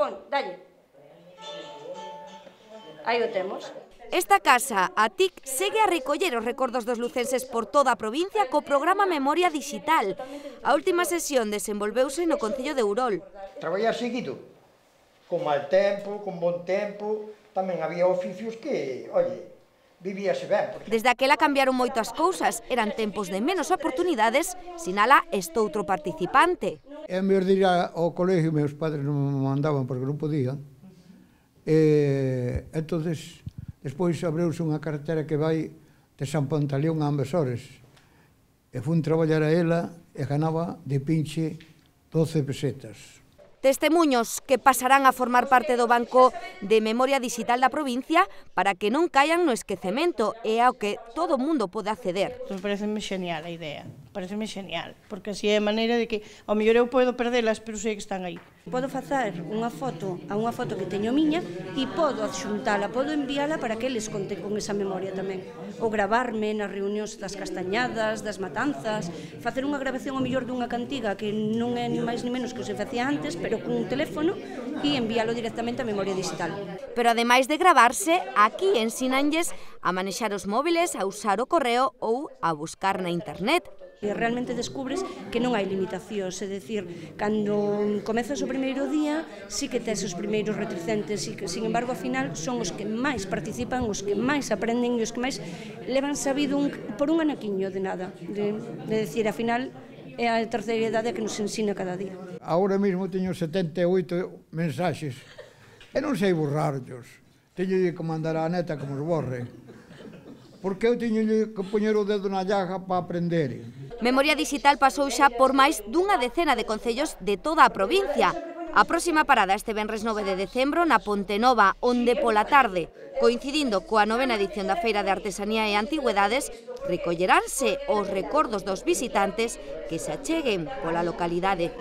pon, dalle. Aí o temos. Esta casa, a TIC, segue a recoller os recordos dos lucenses por toda a provincia co programa Memoria Digital. A última sesión desenvolveuse no Concello de Ourol. Traballar seguido, con mal tempo, con bon tempo, tamén había oficios que, oye, vivíase ben. Desde aquela cambiaron moito as cousas, eran tempos de menos oportunidades, sinala estoutro participante. É mellor de ir ao colegio, meus padres non me mandaban porque non podían. Entonces, despois abreuse unha carretera que vai de San Pantaleón a Ambesores. E fun traballar a ela e ganaba de pinche 12 pesetas. Testemuños que pasarán a formar parte do Banco de Memoria Digital da provincia para que non caian no esquecemento e ao que todo o mundo pode acceder. Pareceme genial a idea, pareceme genial, porque así é a maneira de que, ao mellor eu podo perdelas, pero sei que están aí. Podo facer unha foto a unha foto que teño miña e podo adxuntala, podo enviala para que eles conten con esa memoria tamén. Ou gravarme nas reunións das castañadas, das matanzas, facer unha grabación ao mellor dunha cantiga que non é ni máis ni menos que se facía antes, pero con un teléfono e enviálo directamente á memoria digital. Pero ademais de gravarse, aquí ensínanlles a manexar os móviles, a usar o correo ou a buscar na internet. E realmente descubres que non hai limitacións, é dicir, cando comezas o primeiro día, sí que tes os primeiros reticentes, e que, sin embargo, ao final, son os que máis participan, os que máis aprenden e os que máis levan sabido por un anaquiño de nada. De decir, ao final, é a terceira idade que nos ensina cada día. Agora mesmo teño 78 mensaxes e non sei borrarlos. Teño que mandar á neta que os borre. Porque eu teño que poñer o dedo na llaga para aprender. Memoria Digital pasou xa por máis dunha decena de concellos de toda a provincia. A próxima parada este venres 9 de decembro na Ponte Nova, onde pola tarde, coincidindo coa 9ª edición da Feira de Artesanía e Antigüedades, recolleranse os recordos dos visitantes que se acheguen pola localidade.